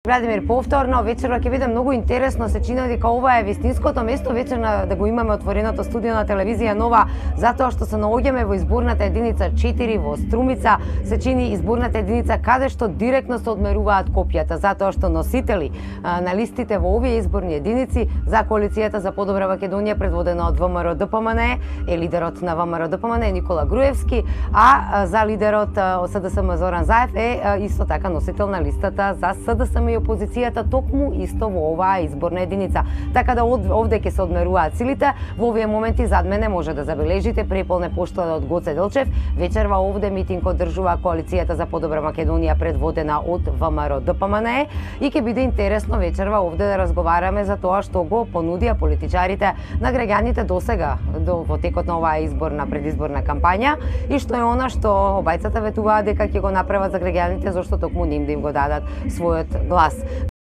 Владимир, повторно, вечерва ќе биде многу интересно, се чини дека ова е вистинското место вечерна да го имаме отвореното студио на телевизија Нова, затоа што се наоѓаме во изборната единица 4 во Струмица, се чини изборната единица каде што директно се одмеруваат копјата, затоа што носители на листите во овие изборни единици за коалицијата за подобра Македонија предводена од ВМРО-ДПМН е лидерот на ВМРО-ДПМН Никола Груевски, а за лидерот од СДСМ Зоран Заев е исто така носител на листата за СДСМ и опозицијата токму исто во оваа изборна единица. Така да овде ќе се одмеруваат силите. Во овие моменти зад мене може да забележите преполне поштада од Гоце Делчев. Вечерва овде митинг одржува коалицијата за подобра Македонија предводена од ВМРО-ДПМН и ќе биде интересно вечерва овде да разговараме за тоа што го понудија политичарите на граѓаните досега во текот на оваа изборна предизборна кампања и што е она што обајцата ветуваат дека ќе го направат за граѓаните зашто токму ним да им го дадат својот глас.